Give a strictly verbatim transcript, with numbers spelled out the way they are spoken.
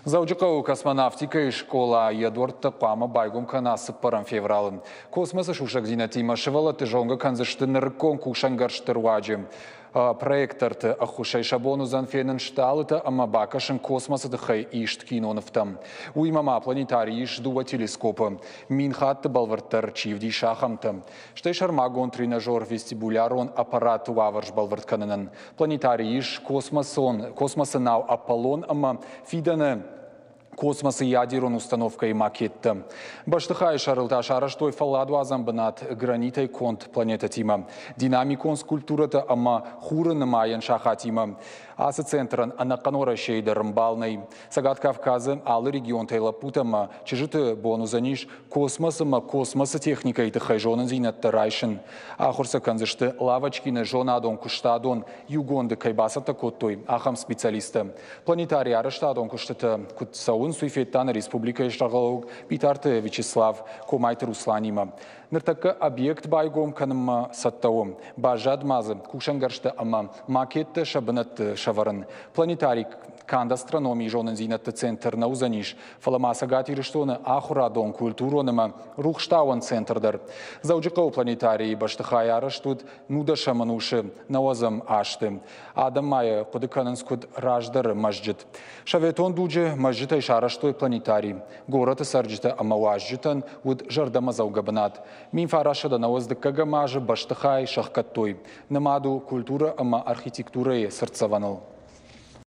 Дзӕуджыхъӕуы космонавтикӕйы скъола йӕ дуӕрттӕ хъуамӕ байгом кӕна цыппӕрӕм февралы. Космосы сусӕгдзинӕдтимӕ сывӕллӕтты зонгӕ кӕндзысты нырыккон кусӕнгӕрзты руаджы. Проекторты ӕххуысӕй сӕ бон уыдзӕн фенын стъалытӕ ӕмӕ бакӕсын космосы тыххӕй ист кинонывтӕм. Уыимӕ ма планетарийы ис дыууӕ телескопы, мин хатты бӕлвырддӕр чи вдисы, ахӕмтӕ. Стӕй сӕрмагонд тренажер вестибулярон аппараты уавӕр сбӕлвырд кӕнынӕн. Планетарийы ис космосон, космосы нау «Аполлон» ӕмӕ фидӕны космосы ядерон установкӕйы макеттӕ. Бӕстыхайы сӕрыл та сарӕзтой фӕлладуадзӕн бынат гранитӕй конд планетӕтимӕ, динамикон скульптурӕтӕ ӕмӕ хуры нымайӕн сахатимӕ. Ацы центрӕн ӕнӕхъӕн Уӕрӕсейы дӕр ӕмбал нӕй. Цӕгат Кавказы алы регионтӕй лӕппутӕ ӕмӕ чызджыты бон уыдзӕнис космос ӕмӕ космосы техникӕйы тыххӕй зонындзинӕдтӕ райсын. Ахуыр сӕ кӕндзысты Лавочкины зонадон куыстадон иугонды кӕй бацӕттӕ кодтой, ахӕм специалисттӕ. Планетарийы арӕзтадон куыстытӕ куыд цӕуынц, уый федта нӕ республикӕйы сӕргълӕууӕг Битарты Вячеслав Комайты Русланимӕ. Ныртӕккӕ объект байгом кӕнынмӕ цӕттӕ у. Баззад ма дзы кусӕнгӕрзтӕ ӕмӕ макеттӕ сӕ бынӕтты сӕвӕрын. Планетарий канд астрономийы зонындзинӕдты центр нӕ уыдзӕнис, фӕлӕ ма Цӕгат Ирыстоны ахуырадон, культурон ӕмӕ рухстауӕн центр дӕр. Дзӕуджыхъӕуы планетарийы бӕстыхай арӕзт уыд нудӕсӕм ӕнусы нӕуӕдзӕм азты. Адӕм ма йӕ хъуыды кӕнынц куыд раздӕры мӕзджыт. Советон дуджы мӕзджытӕй сарӕзтой планетарий. Горӕты цӕрджытӕ ӕмӕ уазджытӕн уыд зӕрдӕмӕдзӕугӕ бынат. Мин фарастсӕдӕ нӕуӕдз дыккӕгӕм азы бӕстыхай сӕхгӕдтой. Нымад у культурӕ ӕмӕ архитектурӕйы цыртдзӕвӕныл.